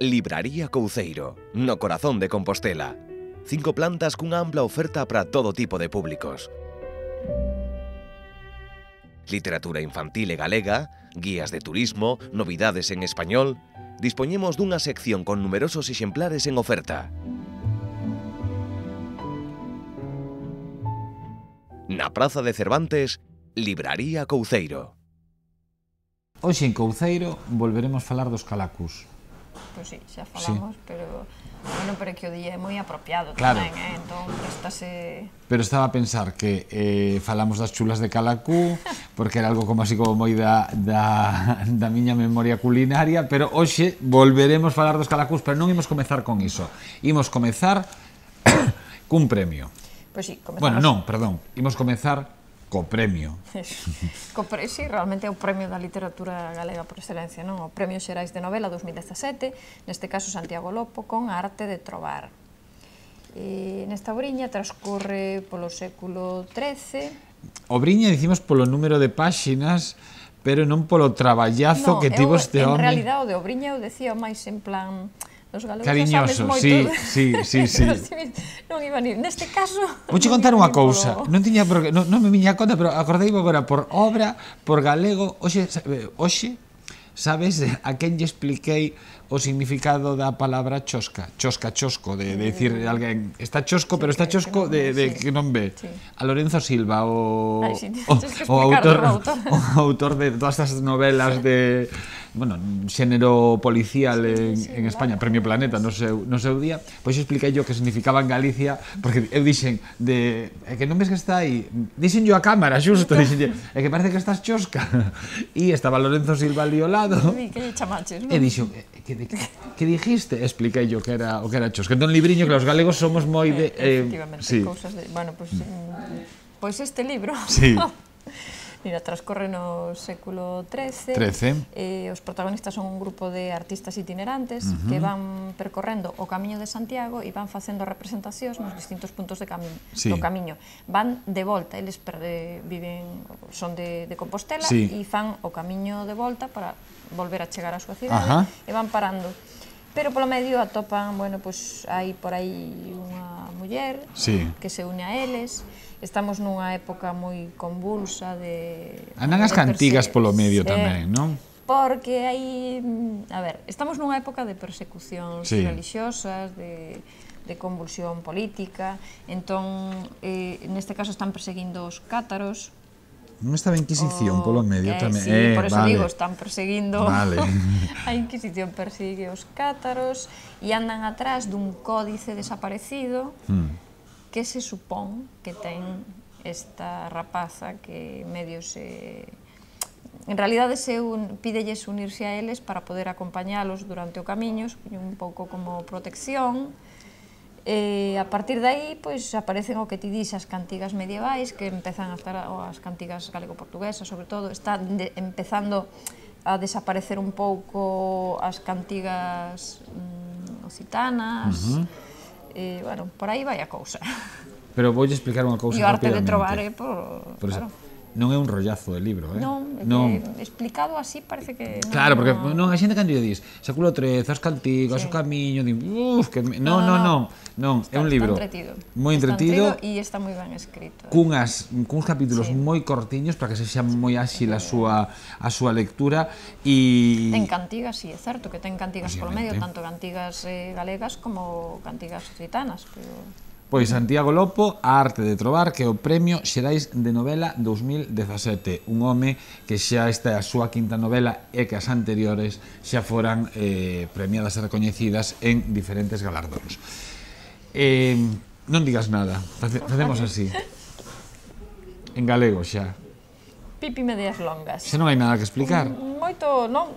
Libraría Couceiro, no corazón de Compostela. 5 plantas cunha ampla oferta para todo tipo de públicos. Literatura infantil e galega, guías de turismo, novidades en español. Dispoñemos dunha sección con numerosos exemplares en oferta. Na Praza de Cervantes, Libraría Couceiro. Hoxe en Couceiro volveremos falar dos calacus. Pois sí, xa falamos, pero bueno, pero que o día é moi apropiado tamén, entón prestase... Pero estaba a pensar que falamos das chulas de calacú, porque era algo como así como moi da miña memoria culinaria, pero hoxe volveremos falar dos calacús, pero non imos comezar con iso. Imos comezar cun premio. Pois sí, comezamos... Bueno, non, perdón, imos comezar co premio. Sí, realmente é o premio da literatura galega por excelencia, non? O Premio Xerais de Novela 2017, neste caso Santiago Lopo, con A arte de trobar. Nesta obriña transcorre polo século XIII. Obriña dicimos polo número de páxinas, pero non polo traballazo que tivo este home. En realidad, o de obriña eu decía máis en plan... Cariñoso, sí. Non iba ni... Neste caso... Vouche contar unha cousa, non me viña a conta, pero acordei agora por obra, por galego, hoxe, sabes a quen lle expliquei o significado da palabra chosca? Chosco, de decir alguén, está chosco, pero está chosco de que non ve. A Lorenzo Silva, o autor de todas estas novelas de... bueno, xénero policial en España, Premio Planeta no seu día, pois expliquei yo que significaba en Galicia, porque eu dixen que non ves que está aí, dixen yo a cámara, xusto, dixen, é que parece que estás chosca, e estaba Lorenzo Silva ali ao lado, e dixo, que dijiste? Expliquei yo que era o que era chosca. Entón, libriño, que os galegos somos moi de... Efectivamente, cousas de... Bueno, pois este libro... Sí. Mira, transcorre no século XIII. Os protagonistas son un grupo de artistas itinerantes que van percorrendo o Camiño de Santiago e van facendo representacións nos distintos puntos do camiño. Van de volta, eles son de Compostela e fan o camiño de volta para volver a chegar á súa cidade e van parando. Pero polo medio atopan, bueno, pois hai por aí unha muller que se une a eles. Estamos nunha época moi convulsa de... Andan as cantigas polo medio tamén, non? Porque hai... A ver, estamos nunha época de persecucións religiosas, de convulsión política, entón, neste caso están perseguindo os cátaros. Non estaba a Inquisición polo medio tamén. Sí, por eso digo, están perseguindo... A Inquisición persigue os cátaros e andan atrás dun códice desaparecido que se supón que ten esta rapaza que medio se... En realidade pídelles unirse a eles para poder acompañalos durante o camiño, un pouco como protección. A partir de aí, pois, aparecen o que ti dís, as cantigas medievais, que empezan a estar, as cantigas galego-portuguesas, sobre todo, está empezando a desaparecer un pouco as cantigas occitanas, bueno, por aí vai a cousa. Pero voulle explicar unha cousa E o arte rapidamente. de trobar é por... Non é un rollazo de libro, Non, explicado así parece que... Claro, porque non, a xente cando lle dis século XIII, as cantigas, o camiño, non, é un libro moi entretido e está moi ben escrito. Cuns capítulos moi cortiños para que se xa moi áxil a súa lectura e... Ten cantigas, sí, é certo que ten cantigas polo medio, tanto cantigas galegas como cantigas occitanas, pero... Pois Santiago Lopo, A arte de trobar, que é o Premio Xerais de Novela 2017. Un home que xa esta é a súa quinta novela e que as anteriores xa foran premiadas e recoñecidas en diferentes galardóns. Non digas nada, facemos así. En galego xa. Pipi medias longas. Xa non hai nada que explicar. Moito, non...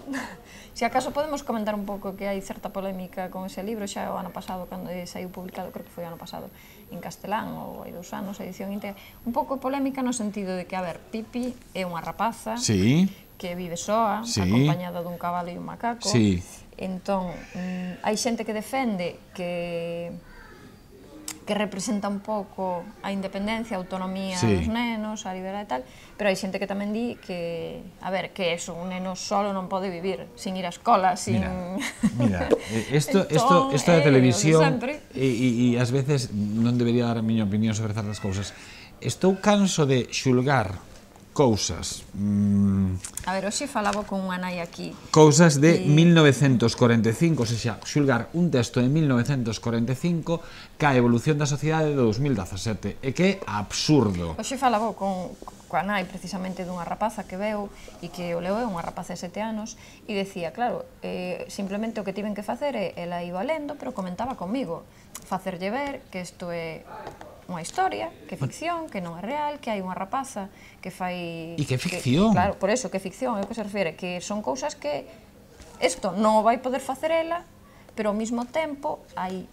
Se acaso podemos comentar un pouco que hai certa polémica con ese libro, xa o ano pasado, cando saiu publicado, creo que foi o ano pasado, en castelán, ou hai 2 anos, a edición íntegra, un pouco polémica no sentido de que, a ver, Pipi é unha rapaza que vive soa, acompañada dun cabalo e un macaco, entón, hai xente que defende que representa un pouco a independencia, a autonomía dos nenos, nenos, a liberdade e tal, pero hai xente que tamén di que, a ver, que eso, un neno solo non pode vivir sin ir á escola, sin... Mira, isto da televisión e ás veces non debería dar a miña opinión sobre certas cousas. Estou canso de xulgar cousas. A ver, hoxe falaba con unha nai aquí. Cousas de 1945, ou seja, xulgar un texto de 1945 ca evolución da sociedade de 2017, e que é absurdo. Hoxe falaba coa nai precisamente dunha rapaza que veu e que o leo é unha rapaza de 7 anos e decía, claro, simplemente o que tiven que facer é, ela iba lendo, pero comentaba comigo, facerlle ver que isto é unha historia, que é ficción, que non é real, que hai unha rapaza que fai... E que é ficción. Claro, por eso, que é ficción, é o que se refere, que son cousas que isto non vai poder facer ela, pero ao mesmo tempo hai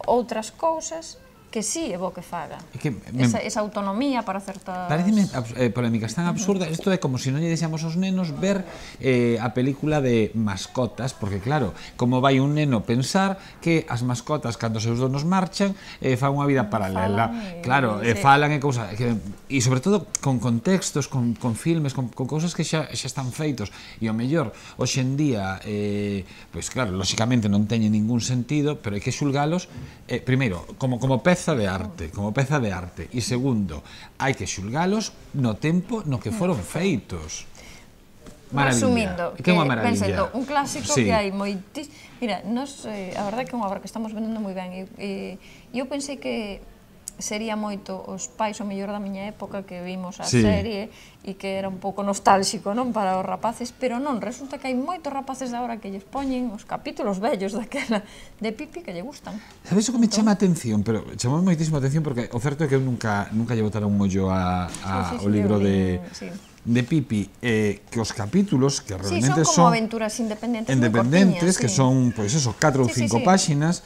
outras cousas que sí é bo que faga. Esa autonomía para certas... Pareceme polémicas tan absurdas. Isto é como se non lle deixamos aos nenos ver a película de mascotas, porque claro, como vai un neno pensar que as mascotas, cando seus donos marchan, fan unha vida paralela. Claro, falan e cousas... E sobre todo con contextos, con filmes, con cousas que xa están feitos. E o mellor, hoxe en día, pois claro, lóxicamente non teñen ningún sentido, pero hai que xulgalos, primeiro, como peza de arte, e segundo, hai que xulgalos no tempo no que foron feitos. Resumindo, que pensando, un clásico que hai moitis... Mira, a verdade é que é unha obra que estamos vendendo moi ben e eu pensei que sería moito os pais o mellor da miña época que vimos a serie e que era un pouco nostálxico, non, para os rapaces, pero non, resulta que hai moitos rapaces de agora que lles poñen os capítulos vellos daquela de Pipi que lle gustan. Sabes o que me chama a atención? Pero chamou moitísimo a atención porque o certo é que eu nunca lle botara un mollo ao libro de Pipi, que os capítulos que realmente son como aventuras independentes que son, pois eso, 4 ou 5 páxinas,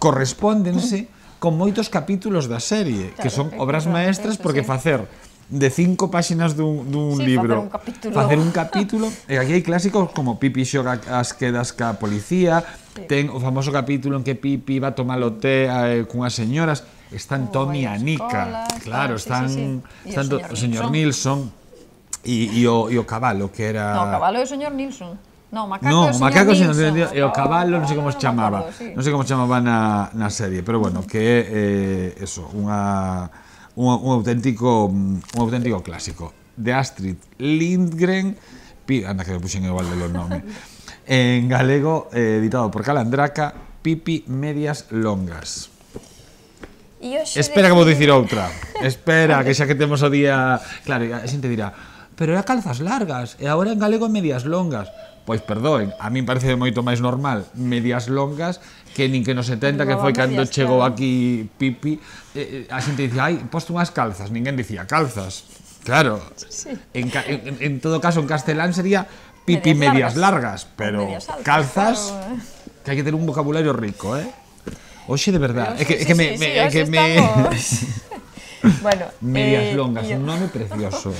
correspóndense con moitos capítulos da serie, que son obras maestras, porque facer de 5 páxinas dun libro, facer un capítulo, e aquí hai clásicos como Pipi xoga as quedas ca policía, ten o famoso capítulo en que Pipi va a tomar o té cunhas señoras, están Tommy e Anica, claro, están o señor Nilsson e o cabalo, que era... No, o cabalo é o señor Nilsson. No, Macaco e o cabalo, non sei como se chamaba, non sei como se chamaba na serie, pero bueno, que é eso, un auténtico clásico. De Astrid Lindgren, anda que me puxen igual de los nomes, en galego, editado por Calandraca, Pipi Medias Longas. Espera que vou dicir outra, espera, que xa que temos o día... Claro, a xente dirá, pero era calzas largas, e agora en galego medias longas. Pois perdoen, a min parece moito máis normal medias longas que nin que nos 70, que foi cando chegou aquí Pipi, a xente dicía, ai, posto unhas calzas, ninguén dicía calzas. Claro, en todo caso en castelán sería Pipi medias largas, pero calzas, que hai que ter un vocabulario rico, Oxe, de verdade, é que me... Medias longas, un nome precioso.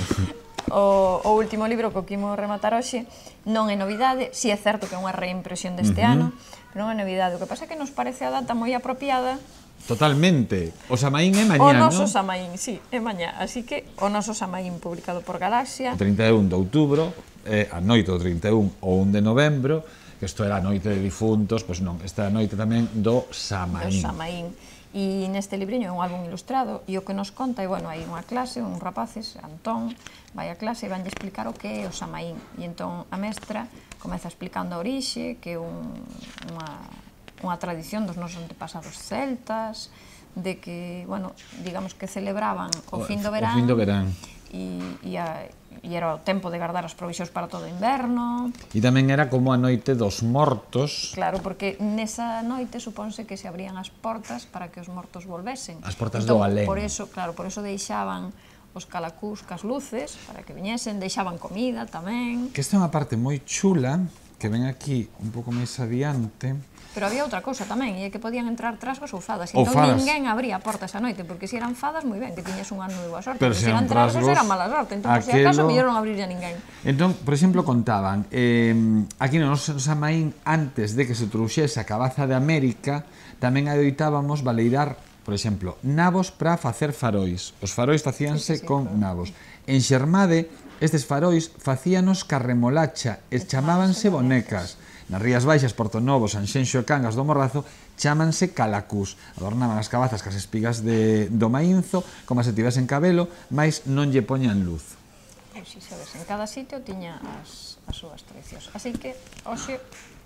O último libro que quimos rematar hoxe non é novidade, si é certo que é unha reimpresión deste ano, pero non é novidade. O que pasa é que nos parece a data moi apropiada. Totalmente. O Samaín é mañá, non? O noso Samaín, sí, é mañá. Así que o noso Samaín publicado por Galaxia. O 31 de outubro, a noite do 31 ou 1 de novembro, que isto era a noite de difuntos, pois non, esta noite tamén do Samaín. Do Samaín. E neste libriño é un álbum ilustrado e o que nos conta é, bueno, hai unha clase, uns rapaces, Antón, vai a clase e vanlle explicar o que é o Samaín. E entón a mestra comeza explicando a orixe, que é unha tradición dos nosos antepasados celtas, de que, bueno, digamos que celebraban o fin do verán. O fin do verán. E era o tempo de guardar as provisións para todo o inverno. E tamén era como a noite dos mortos. Claro, porque nesa noite supónse que se abrían as portas para que os mortos volvesen. As portas do alén. Por eso deixaban os calacús cas luces para que viñesen, deixaban comida tamén. Que esta é unha parte moi chula, que ven aquí un pouco máis adiante. Pero había outra cousa tamén, e é que podían entrar trasgos ou fadas. Entón ninguén abría a porta esa noite, porque se eran fadas, moi ben, que tiñas un ano de boa sorte. Pero se eran trasgos, era mala sorte. Entón, por si acaso, mellor non abrirlle a ninguén. Entón, por exemplo, contaban, aquí no noso Samaín, antes de que se trouxese a cabaza de América, tamén adoitábamos baleirar Por exemplo, nabos para facer farois. Os farois facíanse con nabos. En Xermade, estes farois facíanos ca remolacha e chamábanse bonecas. Nas Rías Baixas, Portonovo, Sanxenxo e Cangas do Morrazo chámanse calacús. Adornaban as cabazas cas espigas do maínzo como se tivesen cabelo, mas non lle poñan luz. Pois si sabes, en cada sitio tiña as súas tradicións. Así que, hoxe,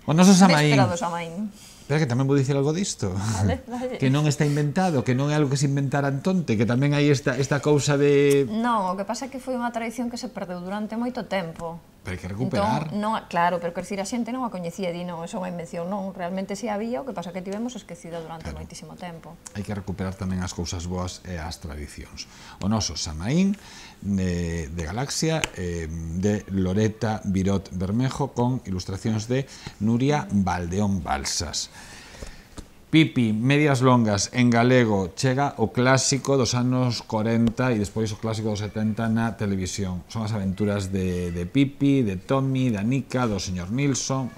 o noso Samaín. véspera do Samaín. Pero que tamén vou dicir algo disto. Vale, vale. Que non está inventado, que non é algo que se inventara Antonte, que tamén hai esta cousa de... Non, o que pasa é que foi unha tradición que se perdeu durante moito tempo. Pero hai que recuperar. Entón, non, claro, pero que decir, a xente non a coñecía, di, non, é unha invención, non, realmente si había, o que pasa que tivemos esquecida durante moitísimo tempo. Hai que recuperar tamén as cousas boas e as tradicións. O noso Samaín de Galaxia, de Loreta Virot Bermejo, con ilustracións de Nuria Valdeón Balsas. Pipi, medias longas, en galego, chega o clásico dos anos 40 e despois o clásico dos 70 na televisión. Son as aventuras de Pipi, de Tommy, de Anica, do señor Nilsson,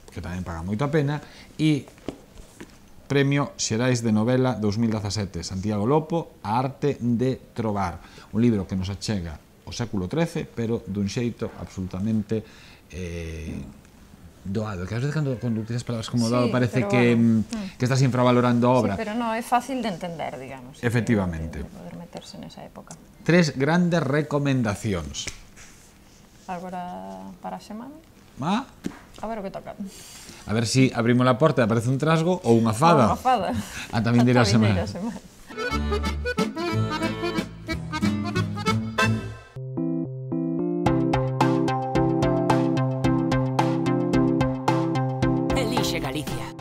que tamén paga moito a pena, e Premio Xerais de Novela 2017, Santiago Lopo, A arte de trobar. Un libro que nos achega o século XIII, pero dun xeito absolutamente... doado, que a veces cando utilizas palabras como doado parece que estás infravalorando a obra. Sí, pero non é fácil de entender, digamos. Efectivamente. De poder meterse nesa época. 3 grandes recomendacións. Agora para a semana? A ver o que toca. A ver si abrimos a porta e aparece un trasgo ou unha fada. Unha fada. A tamén dirá a semana. Elixe Galicia.